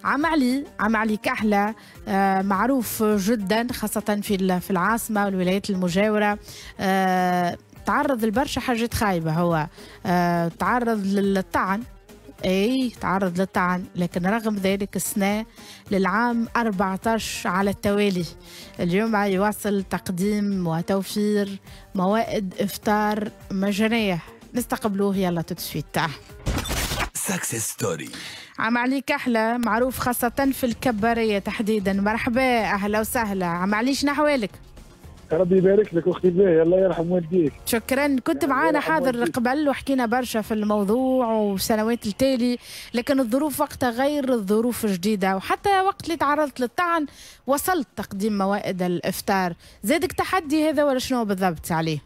عم علي، عم علي كحلة، معروف جدا خاصة في العاصمة والولايات المجاورة. تعرض لبرشا حاجات خايبة، هو تعرض للطعن، اي تعرض للطعن، لكن رغم ذلك السنة للعام 14 على التوالي اليوم يواصل تقديم وتوفير موائد افطار مجانية. نستقبلوه يلا tout de suite. Success Story. عم علي كحلة معروف خاصة في الكبارية تحديدا، مرحبا، أهلا وسهلا. عم علي، شنو أحوالك؟ ربي يبارك لك اختي الباهية، الله يرحم والديك. شكرا. كنت معانا حاضر قبل وحكينا برشا في الموضوع وسنوات التالي، لكن الظروف وقتها غير الظروف الجديدة، وحتى وقت اللي تعرضت للطعن وصلت تقديم موائد الإفطار. زادك تحدي هذا ولا شنو بالضبط عليه؟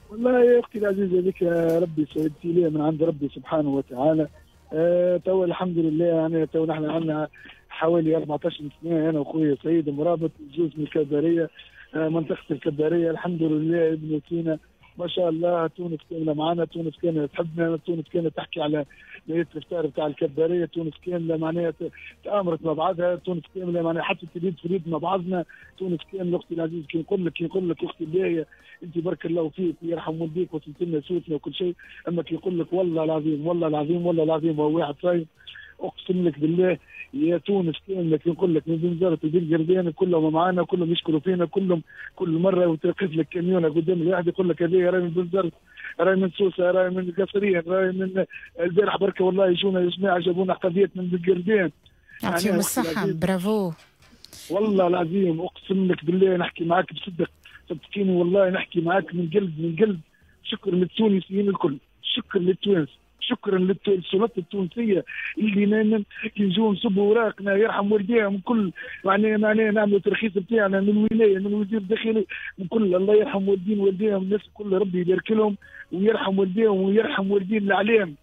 والله يا اختي العزيزة، هذيك ربي ابتلاء من عند ربي سبحانه وتعالى. تو الحمد لله، يعني تو نحن عندنا حوالي 14 سنة انا وخويا سعيد مرابط جوز من الكباريه، منطقة الكباريه. الحمد لله ابن سينا ما شاء الله، تونس كاملة معنا، تونس كاملة تحبنا، تونس كاملة تحكي على ليلة الافطار بتاع الكباريه، تونس كاملة معناها تامرت مع بعضها، تونس كاملة معناها حتى اليد في اليد مع بعضنا، تونس كاملة اختي العزيز. كي نقول لك اختي الباهيه، انت بارك الله فيك ويرحم والديك، وصلت لنا صوتنا وكل شيء، اما كي يقول لك والله العظيم والله العظيم والله العظيم وهو واحد صايم، اقسم لك بالله يا تونس كاملة، كي نقول لك من بنزرت وبن قردان كلهم معانا، كلهم يشكروا فينا، كلهم كل مرة وتوقف لك كاميونه قدام الواحد يقول لك هذه راهي من بنزرت، راهي من سوسه، راهي من قصرين، راهي من البارح بركه، والله يجونا يا جماعة جابونا قضية من بن. يعطيهم الصحه، برافو. والله العظيم اقسم لك بالله نحكي معاك بصدق، صدقيني والله نحكي معاك من قلب من قلب. شكر للتونسيين الكل، شكر للتوانسه، شكرا للسلطات التونسية اللي كي نجوا نصبوا اوراقنا يرحم والديهم كل، معناها نعملوا ترخيص بتاعنا من الولايه، من وزير الداخليه، من كل، الله يرحم والدين والديهم الناس الكل، ربي يبارك لهم ويرحم والديهم ويرحم والدين الاعلام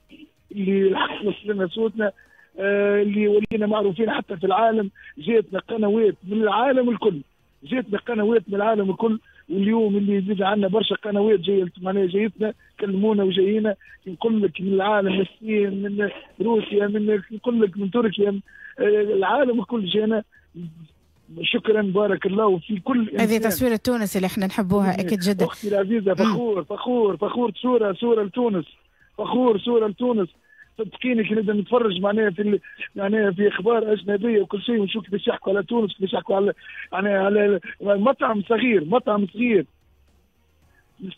اللي الحق وصل لنا صوتنا، اللي ولينا معروفين حتى في العالم. جاتنا قنوات من العالم الكل، جاتنا قنوات من العالم الكل، واليوم اللي يزيد عندنا برشا قنوات جاية، معناها جايتنا كلمونا وجايينا. نقول لك من العالم، من الصين، من روسيا، من نقول لك من تركيا، العالم الكل جانا. شكرا، بارك الله في كل. هذه تصوير تونس اللي احنا نحبوها اكيد جدا. اختي العزيزه، فخور فخور فخور، صوره صوره لتونس، فخور صوره لتونس. صدقيني كي نبدا نتفرج معناها في اخبار اجنبية وكل شيء ونشوف كيفاش يحكوا على تونس، كيفاش يحكوا على معناها على مطعم صغير، مطعم صغير،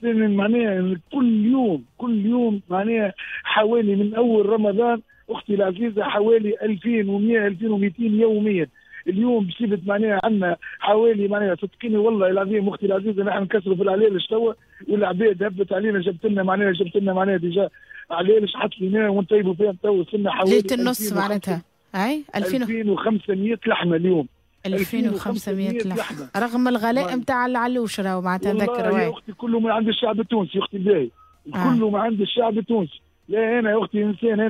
معناها كل يوم كل يوم، معناها حوالي من اول رمضان اختي العزيزة حوالي 2100 2200 يوميا. اليوم بصفة معناها عندنا حوالي، معناها صدقيني والله العظيم اختي العزيزة نحن نكسروا في العلالش توا، والعباد هبت علينا جبت لنا معناها déjà علالش حط لنا ونطيبوا فيهم. تو وصلنا حوالي ليلة النص معناتها اي 2000 2500 لحمه اليوم. 2500 لحمه رغم الغلاء نتاع العلوش راهو معناتها نذكر. يا اختي كله من عند الشعب التونسي اختي الباهي، كله من عند الشعب التونسي. لا انا يا اختي انسان،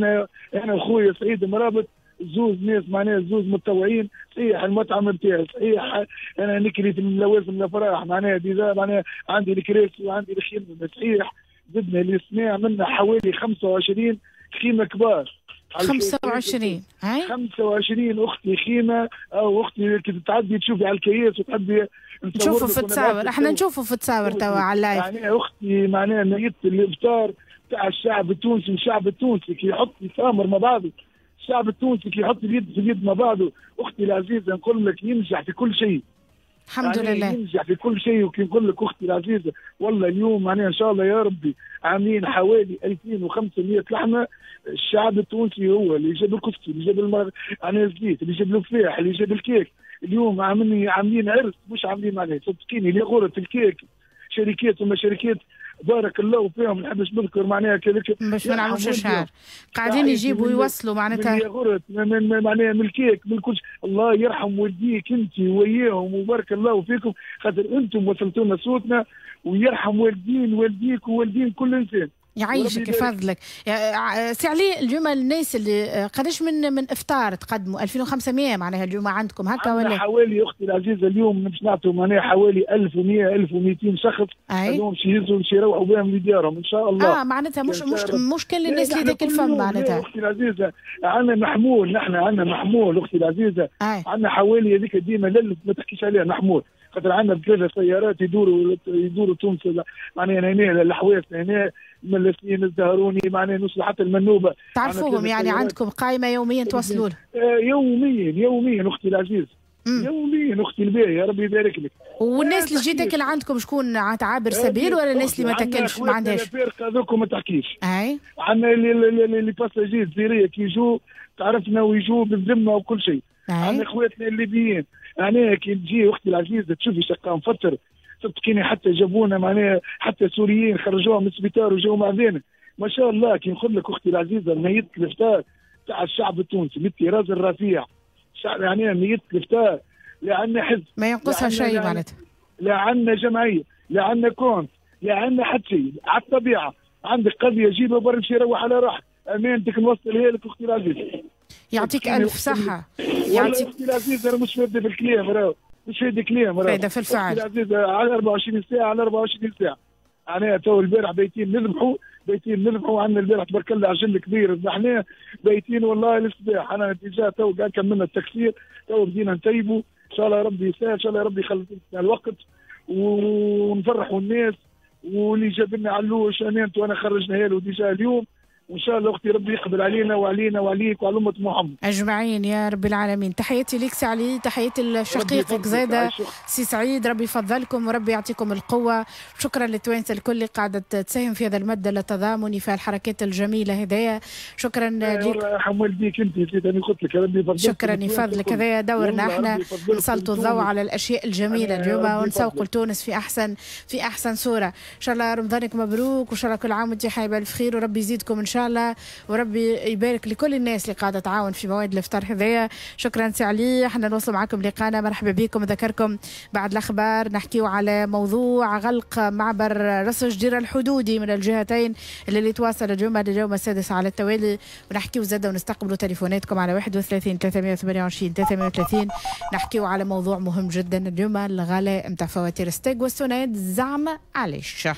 انا وخويا سعيد مرابط زوز ناس معناها زوز متطوعين. صحيح المطعم نتاعي، صحيح انا نكري في اللوازم الافراح، معناها déjà معناها عندي الكراسي وعندي الخيمه. صحيح زدنا السنة عملنا حوالي 25 خيمة كبار. 25 هاي 25 اختي خيمه، او اختي كي تتعدي تشوفي على الكياس وتحبي. نشوفوا في التصاور، احنا نشوفوا في التصاور توا على ال live. يعني اختي معناها مائدة الافطار تاع الشعب التونسي، الشعب التونسي كي يحط يتامر مع بعضه، الشعب التونسي كي يحط اليد في اليد مع بعضه اختي العزيزة نقول لك ينجح في كل شيء. الحمد يعني لله. ينجح في كل شيء. وكي نقول لك اختي العزيزة والله اليوم معناها ان شاء الله يا ربي عاملين حوالي 2500 لحمه. الشعب التونسي هو اللي جاب الكفتي، اللي جاب معناها الزيت، اللي جاب الفلاح، اللي جاب الكيك. اليوم عاملين عرس مش عاملين معناها، صدقيني اللي غرة الكيك شركات وما شركات، بارك الله فيهم، ما نحبش نذكر معناها كذلك. باش ما نعملوش اشهار، قاعدين يجيبوا ويوصلوا معناتها. من غرة من معناها من الكيك من كل. الله يرحم والديك انت وياهم وبارك الله فيكم، خاطر انتم وصلتوا لنا صوتنا، ويرحم والدين والديك ووالدين كل انسان. يعيشك يفضلك سي علي. اليوم الناس اللي قداش من افطار تقدموا؟ 2500 معناها اليوم عندكم هكا ولا؟ حوالي اختي العزيزة اليوم باش نعطوا معناها حوالي 1100 1200 شخص هذوم باش يهزوا باش يروحوا بهم لديارهم ان شاء الله. معناتها مش كل الناس اللي تاكل فم معناتها. اختي العزيزة عندنا محمول، نحن عندنا محمول اختي العزيزة، عندنا حوالي هذيك ديما ما تحكيش عليها محمول، خاطر عندنا ثلاثة سيارات يدوروا تونس معناها هنا الحواس هنا من السنين الزهروني معناها نوصل حتى المنوبه. تعرفوهم يعني عندكم قائمة يوميا توصلوا لهم؟ يوميا يوميا اختي العزيز، يوميا اختي الباهيه ربي يبارك لك. والناس اللي تجي تاكل عندكم شكون عابر سبيل ولا الناس اللي ما تاكلش ما عندهاش؟ هذوك ما تحكيش. عندنا les passagers الجزائرية كي يجوا تعرفنا ويجوا بالذمه وكل شيء. عندنا اخواتنا الليبيين معناها كي تجي اختي العزيزة تشوفي شقه مفطر صدقيني، حتى جابونا معناها حتى سوريين خرجوهم من السبيطار وجاوا معذينا ما شاء الله. كي نقول لك اختي العزيزة ميت الافطار تاع الشعب التونسي من الطراز الرفيع، يعني ميت الافطار لا عندنا حزب ما ينقصها شيء معناتها، لا عندنا جمعية، لا عندنا compte، لا عندنا حتى شيء. على الطبيعة عندك قضية جيبها برا امشي روح على روحك، امانتك نوصلها لك اختي العزيزة. يعطيك الف صحة. يعطيك اختي العزيزة انا مش فاده في الكلام، راهو مش فاده كلام، فاده في الفعل. اختي العزيزة على 24 ساعة، على 24 ساعة. معناها تو البارح بايتين نذبحوا، بايتين نذبحوا، عندنا البارح تبارك الله عجل كبير ذبحناه، بايتين والله للصباح. انا déjà تو كملنا التكسير، تو بدينا نطيبوا، ان شاء الله ربي يسهل، ان شاء الله ربي يخلص لنا الوقت ونفرحوا الناس. واللي جاب لنا علوش امانته وانا خرجناها له déjà اليوم، وان شاء الله اختي ربي يقبل علينا وعلينا وعليك وعلى امه محمد اجمعين يا رب العالمين. تحياتي ليك سي علي، تحياتي لشقيقك زاده سي سعيد، ربي يفضلكم وربي يعطيكم القوة. شكرا للتوانسه الكل اللي قاعدة تساهم في هذا المد التضامني في الحركات الجميلة هذايا. شكرا ليك. الله يرحم والديك انت انا قلت لك ربي يفضلك. شكرا يفضلك، هذايا دورنا احنا نسلطوا الضوء على الاشياء الجميلة اليوم ونسوقوا لتونس في احسن صوره. ان شاء الله رمضانك مبروك، وان شاء الله كل عام وانت حي بالف خير، وربي يزيدكم ان شاء الله، وربي يبارك لكل الناس اللي قاعدة تعاون في مواد الافطار هذايا. شكرا سي علي، احنا نوصل معكم لقانا، مرحبا بكم. ذكركم بعد الاخبار نحكيو على موضوع غلق معبر راس جدير الحدودي من الجهتين اللي تواصل اليوم لليوم السادس على التوالي، ونحكيو زاده ونستقبلوا تليفوناتكم على 31 328 330. نحكيو على موضوع مهم جدا اليوم، الغلاء نتاع فواتير ستاغ والسوناد، زعما علاش؟